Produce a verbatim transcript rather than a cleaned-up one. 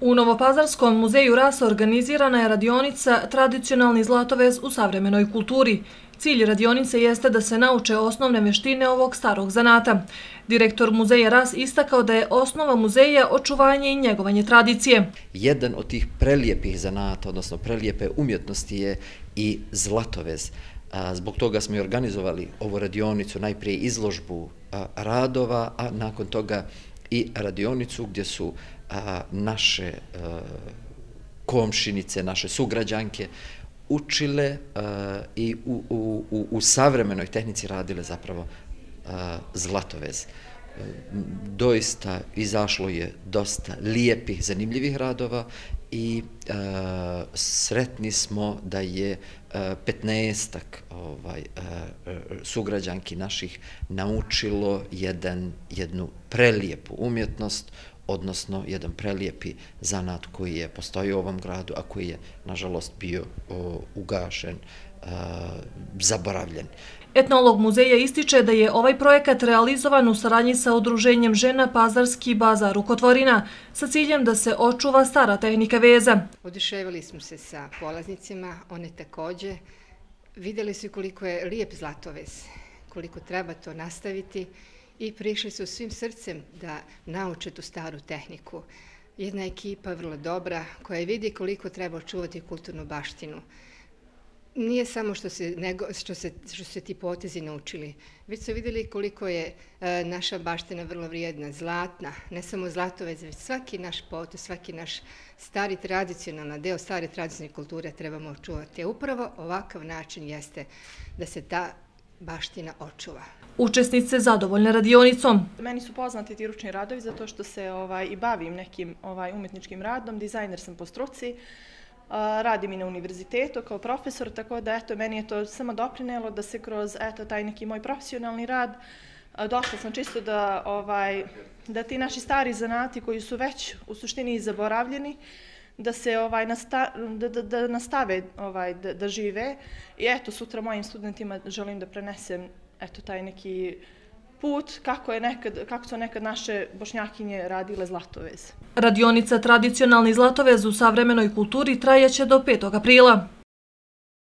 U Novopazarskom muzeju rasa organizirana je radionica Tradicionalni zlatovez u savremenoj kulturi. Cilj radionice jeste da se nauče osnovne veštine ovog starog zanata. Direktor muzeja Ras istakao da je osnova muzeja očuvanje i njegovanje tradicije. Jedan od tih prelijepih zanata, odnosno prelijepe umjetnosti je i zlatovez. Zbog toga smo i organizovali ovu radionicu, najprije izložbu radova, a nakon toga i radionicu gdje su naše komšinice, naše sugrađanke učile i u, u, u savremenoj tehnici radile zapravo zlatovez. Doista izašlo je dosta lijepih, zanimljivih radova i e, sretni smo da je petnaestak ovaj, e, sugrađanki naših naučilo jedan, jednu prelijepu umjetnost, odnosno jedan prelijepi zanat koji je postojao u ovom gradu, a koji je, nažalost, bio o, ugašen, e, zaboravljen. Etnolog muzeja ističe da je ovaj projekat realizovan u saradnji sa Udruženjem žena Pazarski bazar Rukotvorina sa ciljem da se očuva stara tehnika veza. Oduševili smo se sa polaznicima, one također. Vidjeli su koliko je lijep zlatovez, koliko treba to nastaviti i prišli su svim srcem da nauče tu staru tehniku. Jedna ekipa vrlo dobra koja vidi koliko treba očuvati kulturnu baštinu. Nije samo što se, nego, što, se, što se ti potezi naučili, već su vidjeli koliko je e, naša baština vrlo vrijedna, zlatna, ne samo zlatovez, već svaki naš potez, svaki naš stari tradicionalna deo stare tradicionalne kulture trebamo očuvati. A upravo ovakav način jeste da se ta baština očuva. Učesnice zadovoljne radionicom. Meni su poznati ti ručni radovi zato što se ovaj, i bavim nekim ovaj, umjetničkim radom, dizajner sam po struci. Radim i na univerzitetu kao profesor, tako da eto, meni je to samo doprinelo da se kroz eto, taj neki moj profesionalni rad došla sam čisto da, ovaj, da ti naši stari zanati koji su već u suštini zaboravljeni, da se ovaj, nasta, da, da, da nastave ovaj, da, da žive. I eto, sutra mojim studentima želim da prenesem eto, taj neki put kako, je nekad, kako su nekad naše bošnjakinje radile zlatovez. Radionica Tradicionalni zlatovez u savremenoj kulturi trajaće do petog aprila.